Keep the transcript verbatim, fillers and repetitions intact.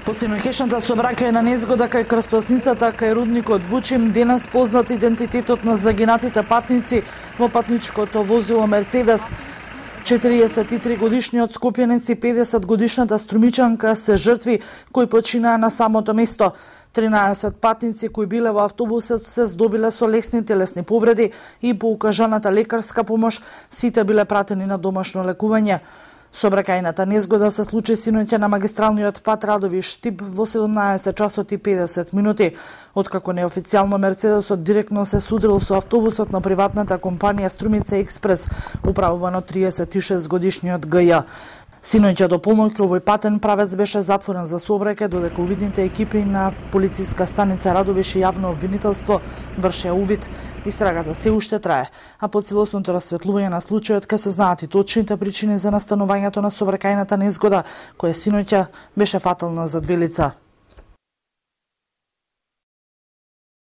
По синоќешната сообраќајна незгода кај крстосницата кај рудникот Бучим, денес познат идентитетот на загинатите патници во патничкото возило Мерцедес. четириесет и три годишниот скопјанец и педесет годишната струмичанка се жртви кои починаа на самото место. тринаесет патници кои биле во автобусот се здобиле со лесни телесни повреди и по укажаната лекарска помош сите биле пратени на домашно лекување. Сообраќајната незгода се случи синоќа на магистралниот пат Радовиш-Штип во седумнаесет часот и педесет минути, откако неофицијално Мерцедесот директно се судрил со автобусот на приватната компанија Струмица Експрес, управуван од триесет и шест годишниот Г Ј. Синоќа до полноќ овој патен правец беше затворен за сообраќај, додека увидните екипи на полициска станица Радовиш и јавно обвинителство вршеа увид. Истрагата се уште трае, а по целосното расветлување на случајот ке се знаат и точните причини за настанувањето на сообраќајната незгода, која синоќа беше фатална за две лица.